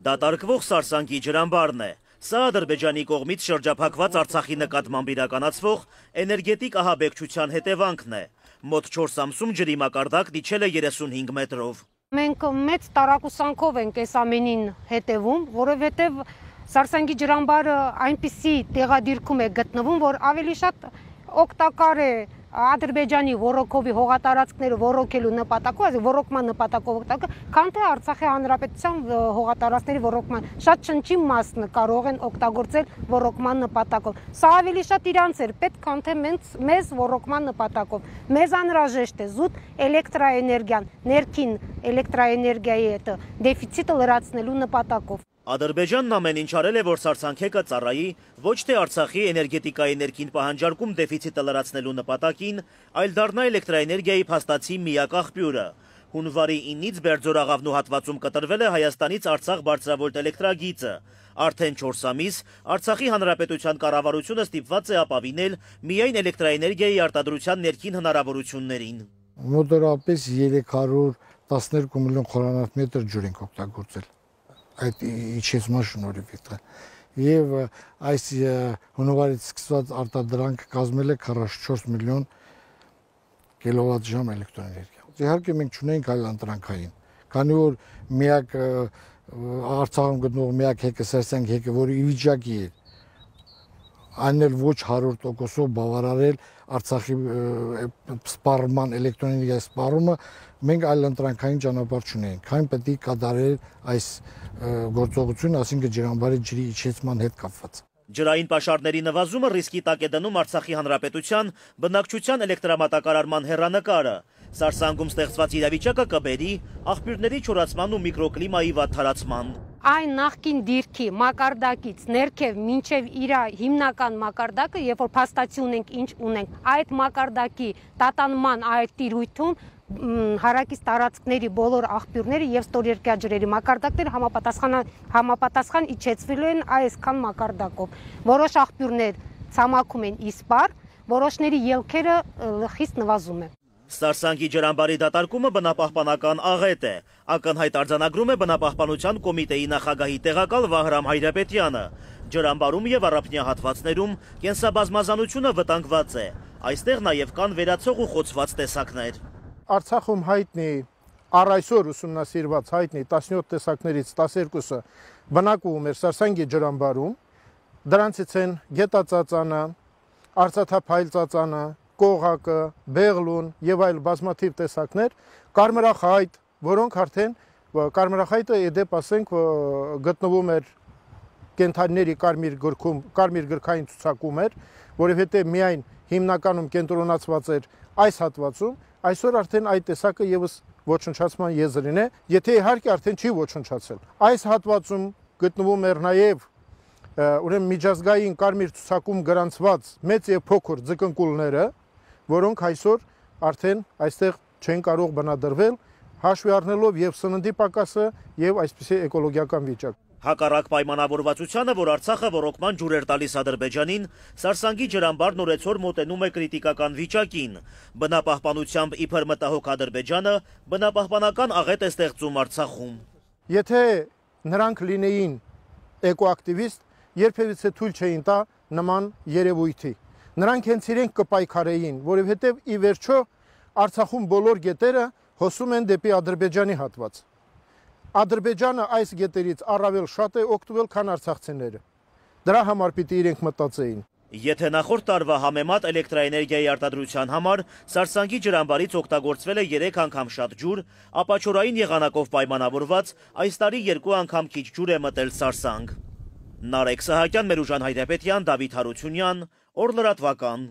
Դատարկվող Սարսանգի ջրամբարն է։ Սա Ադրբեջանի կողմից շրջափակված Արցախի նկատմամբ իրականացվող էներգետիկ ահաբեկչության հետևանքն է։ Մոտ 4 ամսում ջրի մակարդակն իջել է 35 մետրով։ Մենք մեծ տարակուսանքով ենք այս ամենին հետևում, որովհետև Սարսանգի ջրամբարը այնպիսի տեղադիրքում է գտնվում, որ ավելի շատ օգտակար է Ադրբեջանի ոռոգովի հողատարածքները ոռոգելու նպատակով, այսինքն ոռոգման նպատակով օգտակար, քան թե Արցախի հանրապետության հողատարածքների ոռոգման շատ շնչի մասն կարող են օգտագործել ոռոգման նպատակով։ Սա ավելի շատ իրանց էր պետք, քան թե մեզ ոռոգման նպատակով։ Մեզ անհրաժեշտ է զուտ էլեկտրաէներգիան, ներքին էլեկտրաէներգիայի հետ դեֆիցիտը լրացնելու նպատակով։ Ադրբեջանն ամեն ինչ արել է, որ Սարսանքեկը ծառայի ոչ թե Արցախի էներգետիկայի ներքին պահանջարկում դեֆիցիտը լրացնելու նպատակին, այլ դառնա էլեկտրաէներգիայի փաստացի միակ աղբյուրը։ Հունվարի 9-ից Բերձորաղավնու հատվածում կտրվել է Հայաստանից Արցախ բարձրավոլտ էլեկտրագիծը։ Արդեն 4 ամիս Արցախի հանրապետության կառավարությունը ստիպված է ապավինել միայն էլեկտրաէներգիայի արտադրության ներքին հնարավորություններին։ Մոտավորապես 312 միլիոն խորանարդ ջուր ենք օգտագործել այդ իջեցման շնորհիվ եւ այս հունվարից սկսված արտադրանքը կազմել է 44 միլիոն կիլովատժամ էլեկտրոէներգիա։ Իհարկե մենք չունենք այլ ընտրանքային, քանի որ միակ Արցախում գտնող միակ հեկը Սարսանգ հեկը, որը ի վիճակի է այն էլ ոչ 100%-ով բավարարել Արցախի սպառման էլեկտրոէներգիայի սպառումը, մենք այլ ընտրանքային ճանապարհ չունենք, քան պետք է կատարել այս գործողությունը, այսինքն ջրամբարի ջրի իջեցման հետ կապված։ Ջրային պաշարների նվազումը ռիսկի տակ է դնում Արցախի հանրապետության բնակչության էլեկտրամատակարարման հեռանկարը։ Սարսանգում ստեղծված իրավիճակը կբերի աղբյուրների չորացման ու միկրոկլիմայի վատթարացման։ Այն նախկին դիրքի մակարդակից ներքև մինչև իր հիմնական մակարդակը, երբ որ փաստացի ունենք ինչ ունենք, այդ մակարդակի տատանման այդ տիրույթում հարակից տարածքների բոլոր աղբյուրները եւ ստորերկրյա ջրերի մակարդակները համապատասխան իջեցվելու են այսքան մակարդակով։ Որոշ աղբյուրներ ցամաքում են իսպառ, որոշների ելքերը խիստ նվազում է։ Սարսանգի ջրամբարի դատարկումը բնապահպանական աղետ է։ Ակնհայտ արձանագրում է բնապահպանության կոմիտեի նախագահի տեղակալ Վահրամ Հայրապետյանը։ Ջրամբարում եւ առափնյա հատվածներում կենսաբազմազանությունը վտանգված է։ Այստեղ նաեւ կան վերացող ու խոցված տեսակներ։ Արցախում հայտնի առ այսօր ուսումնասիրված հայտնի 17 տեսակներից 12-ը բնակվում էր Սարսանգի ջրամբարում։ Դրանցից են գետածածանը, արծաթափայլ ծածանը, կողակը, բեղլուն եւ այլ բազմաթիվ տեսակներ, կարմրախայտ, որոնք արդեն կարմրախայտը իդեպ ասենք գտնվում էր կենթանիների կարմիր գրքում, կարմիր գրքային ցուցակում էր, որովհետեւ միայն հիմնականում կենտրոնացված էր այս հատվածում, այսօր արդեն այդ տեսակը եւս ոչնչացման եզրին է, եթե իհարկե արդեն չի ոչնչացել։ Այս հատվածում գտնվում էր նաեւ ուրեմն միջազգային կարմիր ցուցակում գրանցված մեծ եւ փոքր ձկնկուլները, որոնք այսօր արդեն այստեղ չեն կարող բնադրվել, հաշվի առնելով եւ սննդի պակասը եւ այսպիսի էկոլոգիական վիճակ։ Հակառակ պայմանավորվածությանը, որ Արցախը ոռոգման ջուր էր տալիս Ադրբեջանին, Սարսանգի ջրամբարն օրեցօր մոտենում է կրիտիկական վիճակին։ Բնապահպանությամբ իբր մտահոգ Ադրբեջանը բնապահպանական աղետ է ստեղծում Արցախում։ Եթե նրանք լինեին էկոակտիվիստ, երբևիցե թույլ չէին տա նման երևույթի։ Նրանք հենց իրենք կպայքարեին, որովհետև ի վերջո Արցախում բոլոր գետերը հոսում են դեպի Ադրբեջանի հատված։ Ադրբեջանը այս գետերից առավել շատ է օգտվել, քան արցախցիները։ Դրա համար պիտի իրենք մտածեին։ Եթե նախորդ տարվա համեմատ էլեկտրաէներգիայի արտադրության համար Սարսանգի ջրամբարից օգտագործվել է 3 անգամ շատ ջուր, ապա չորային եղանակով պայմանավորված այս տարի 2 անգամ քիչ ջուր է մտել Սարսանգ։ Նարեկ Սահակյան, Մերուժան Հայրապետյան, Դավիթ Հարությունյան, Օր լրատվական։